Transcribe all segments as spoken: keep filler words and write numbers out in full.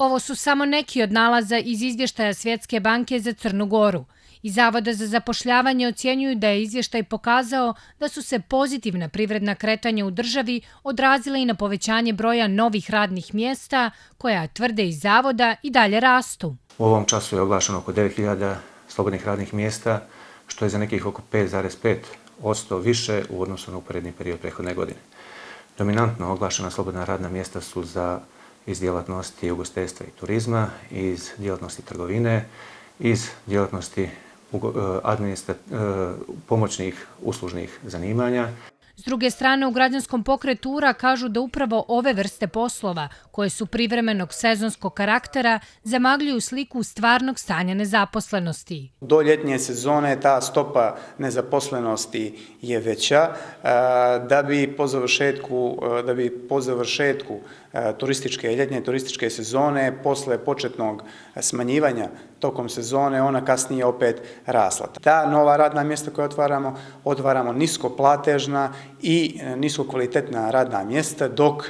Ovo su samo neki od nalaza iz izvještaja Svjetske banke za Crnu Goru. Iz Zavoda za zapošljavanje ocjenjuju da je izvještaj pokazao da su se pozitivna privredna kretanja u državi odrazila i na povećanje broja novih radnih mjesta, koja, tvrde iz Zavoda, i dalje rastu. U ovom času je oglašeno oko devet hiljada slobodnih radnih mjesta, što je za nekih oko pet zarez pet posto više u odnosu na uporedni period prethodne godine. Dominantno oglašena slobodna radna mjesta su za iz djelatnosti ugostiteljstva i turizma, iz djelatnosti trgovine, iz djelatnosti pomoćnih uslužnih zanimanja. S druge strane, u građanskom pokretu U R A kažu da upravo ove vrste poslova, koje su privremenog sezonskog karaktera, zamagljuju sliku stvarnog stanja nezaposlenosti. Do ljetnje sezone ta stopa nezaposlenosti je veća, da bi po završetku, da bi po završetku turističke, ljetnje turističke sezone, posle početnog smanjivanja tokom sezone, ona kasnije opet rasla. Ta nova radna mjesta koja otvaramo, otvaramo niskoplatežna i niskokvalitetna radna mjesta, dok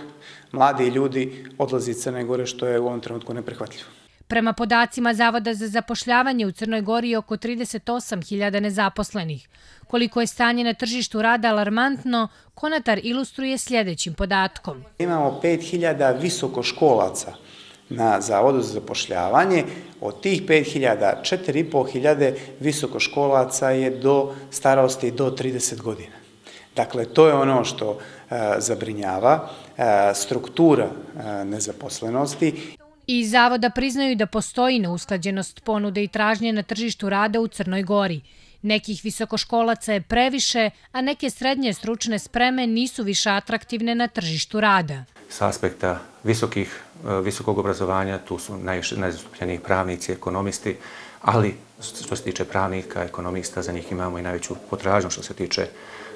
mladi ljudi odlaze iz Crne Gore, što je u ovom trenutku neprihvatljivo. Prema podacima Zavoda za zapošljavanje, u Crnoj Gori je oko trideset osam hiljada nezaposlenih. Koliko je stanje na tržištu rada alarmantno, Konatar ilustruje sljedećim podatkom. Imamo pet hiljada visokoškolaca na Zavodu za zapošljavanje. Od tih pet hiljada, četiri i po hiljade visokoškolaca je do starosti do trideset godina. Dakle, to je ono što zabrinjava, struktura nezaposlenosti. Iz Zavoda priznaju da postoji neusklađenost ponude i tražnje na tržištu rada u Crnoj Gori. Nekih visokoškolaca je previše, a neke srednje stručne spreme nisu više atraktivne na tržištu rada. S aspekta visokih, visokog obrazovanja tu su najzastupljeniji pravnici, ekonomisti, ali što se tiče pravnika, ekonomista, za njih imamo i najveću potražnju što se tiče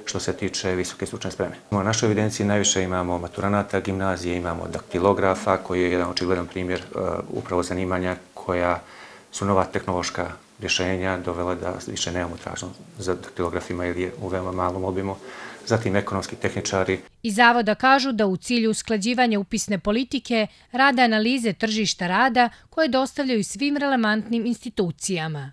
što se tiče visoke stručne spreme. U našoj evidenciji najviše imamo maturanata gimnazije, imamo daktilografa, koji je jedan očigledan primjer upravo zanimanja koja su nova tehnološka rješenja dovela da više nemamo tražnju za daktilografima ili je u veoma malom obimu. Zatim ekonomski tehničari. Iz Zavoda kažu da u cilju usklađivanja upisne politike rade analize tržišta rada koje dostavljaju svim relevantnim institucijama.